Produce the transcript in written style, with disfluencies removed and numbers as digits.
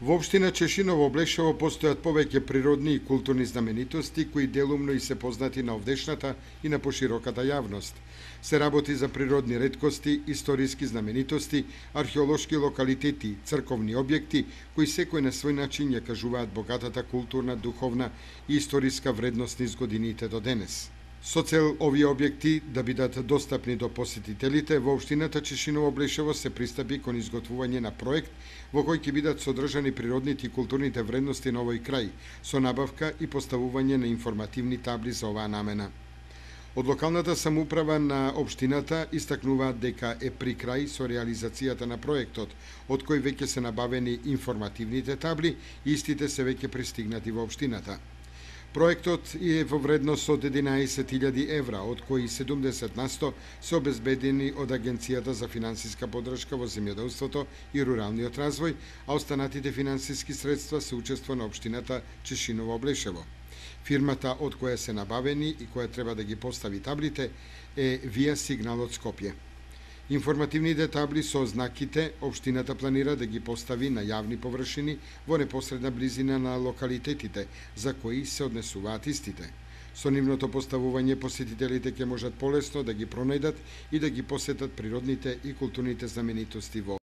Во општина Чешиново Облешево постојат повеќе природни и културни знаменитости кои делумно и се познати на овдешната и на пошироката јавност. Се работи за природни реткости, историски знаменитости, археолошки локалитети, црковни објекти кои секој на свој начин ја кажуваат богатата културна, духовна и историска вредност низ годините до денес. Со цел овие објекти да бидат достапни до посетителите, во општината Чешиново Облешево се пристапи кон изготвување на проект во кој ќе бидат содржани природните и културните вредности на овој крај, со набавка и поставување на информативни табли за оваа намена. Од локалната самоуправа на општината истакнуваат дека е при крај со реализацијата на проектот, од кој веќе се набавени информативните табли и истите се веќе пристигнати во општината. Проектот е во вредност од 11.000 евра, од кои 70% се обезбедени од Агенцијата за финансиска поддршка во земјоделството и руралниот развој, а останатите финансиски средства се учество на општината Чешиново Облешево. Фирмата од која се набавени и која треба да ги постави таблите е Вија Сигнал од Скопје. Информативните табли со знаките општината планира да ги постави на јавни површини во непосредна близина на локалитетите за кои се однесуваат истите. Со нивното поставување посетителите ќе можат полесно да ги пронајдат и да ги посетат природните и културните знаменитости во